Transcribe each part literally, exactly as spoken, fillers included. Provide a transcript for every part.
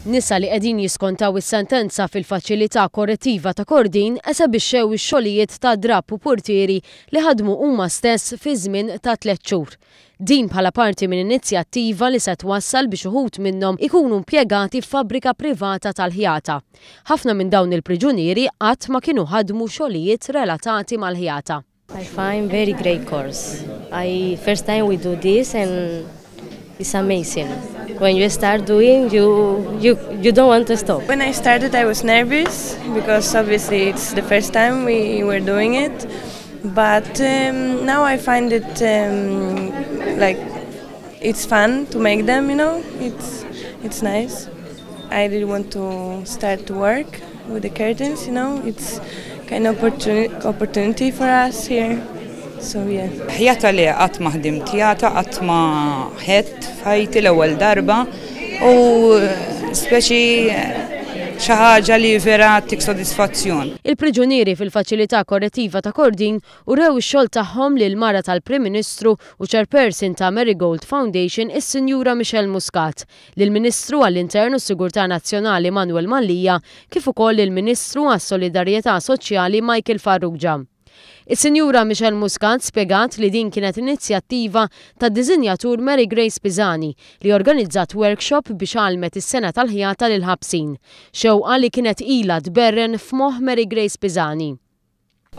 Nisa li qegħdin jiskontaw is-sentenza fil-faċilità korrettiva ta' Kordin esebixxew ix-xogħlijiet ta' drapp u purtieri li ħadmu huma stess fi żmien ta' tliet xhur. Din bħala parti minn inizjattiva li se twassal biex uħud minnhom ikunu impjegati f'fabbrika privata tal-ħjata. Ħafna minn dawn il-priġunieri qatt ma kienu ħadmu xogħlijiet relatati mal-ħjata. I find very great course. I first time we do this and it's amazing. When you start doing, you you you don't want to stop. When I started, I was nervous because obviously it's the first time we were doing it. But um, now I find it um, like it's fun to make them. You know, it's it's nice. I really want to start to work with the curtains. You know, it's kind of opportunity opportunity for us here. So yeah. Ħjata li qatt ma ħdimt ħjata, qatt ma ħitt f'ħajti, l-ewwel darba u speċi xi ħaġa li vera ttik sodisfazzjon. Il-priġunieri fil-faċilità korrettiva ta' Kordin urew ix-xogħol tagħhom lil mara tal-Prim Ministru u Chairperson ta' Marigold Foundation, is-Sinjura Michelle Muscat, lill-Ministru għall-Intern u Sigurtà Nazzjonali Manuel Mallia, kif ukoll il-Ministru għas-Solidarjetà Soċjali Michael Farrugia. Is-Sinjura Michelle Muscat spjegat li din kienet inizjattiva ta' dizinjatur Mary Grace Pisani li organizzat workshop biex għalmet is-sengħa tal-ħjata lil ħabsin. Xewqa li kienet ila tberren f'moħ Mary Grace Pisani.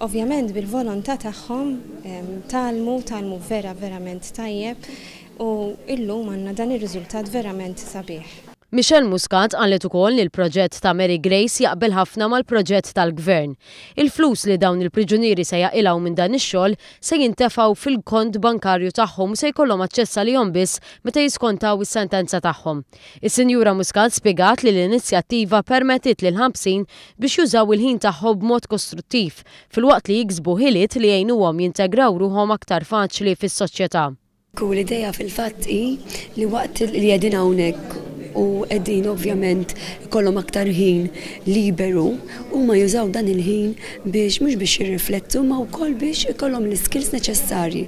Ovvjament bil-volontà tagħhom tgħallmu, tgħallmu vera verament tajjeb u illum għandna dan ir-riżultat verament sabiħ. Michelle Muscat qalet ukoll li l-proġett ta' Mary Grace jaqbel ħafna mal-proġett tal-gvern. Il-flus li dawn il-priġunieri se jaqilgħu minn dan ix-xogħol se jintefgħu fil-kont bankarju tagħhom, se jkollhom aċċess għalihom biss meta jiskontaw is-sentenza tagħhom. Is-Sinjura Muscat spjegat li l-inizjattiva permettit lil ħabsin biex jużaw il-ħin tagħhom b'mod kostruttiv filwaqt li jiksbu ħiliet li jgħinuhom jintegraw ruħhom aktar faċli fis-soċjetà. U l-ideja fil-fatt hi li waqt li qegħdin hawnhekk u qegħdin ovvjament ikollhom aktar ħin liberu, huma jużaw dan il-ħin biex mhux biex jirriflettu ma wkoll biex ikollhom l-skills neċessarji.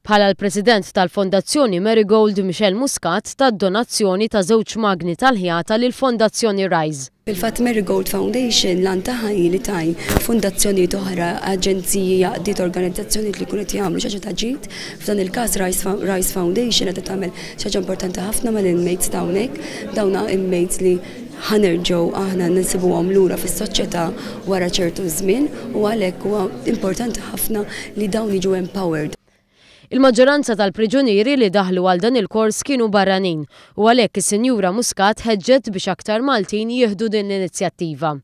Bħala l-President tal-Fondazzjoni Marigold, Michelle Muscat tat donazzjoni ta' żewġ magni tal-ħjata lil Fondazzjoni Rise. Fil-fatt Marigold Foundation l-għan tagħha li tgħin fondazzjonijiet oħra, aġenziji, għaqdiet, organizzazzjonijiet li jkunu jagħmlu xi ħaġa ta' ġid. F'dan il-każ Rise Foundation qed tagħmel xi ħaġa importanti ħafna mal-inmates hawnhekk, dawna inmates li ħa nerġgħu aħna nsibuhom lura fis-soċjetà wara ċertu żmien u għalhekk huwa importanti ħafna li dawn jiġu empowered. Il-maġġoranza tal-priġunieri li daħlu għal dan il-kors kienu barranin u għalhekk is-Sinjura Muscat ħeġġet biex aktar Maltin jieħdu din l-inizjattiva.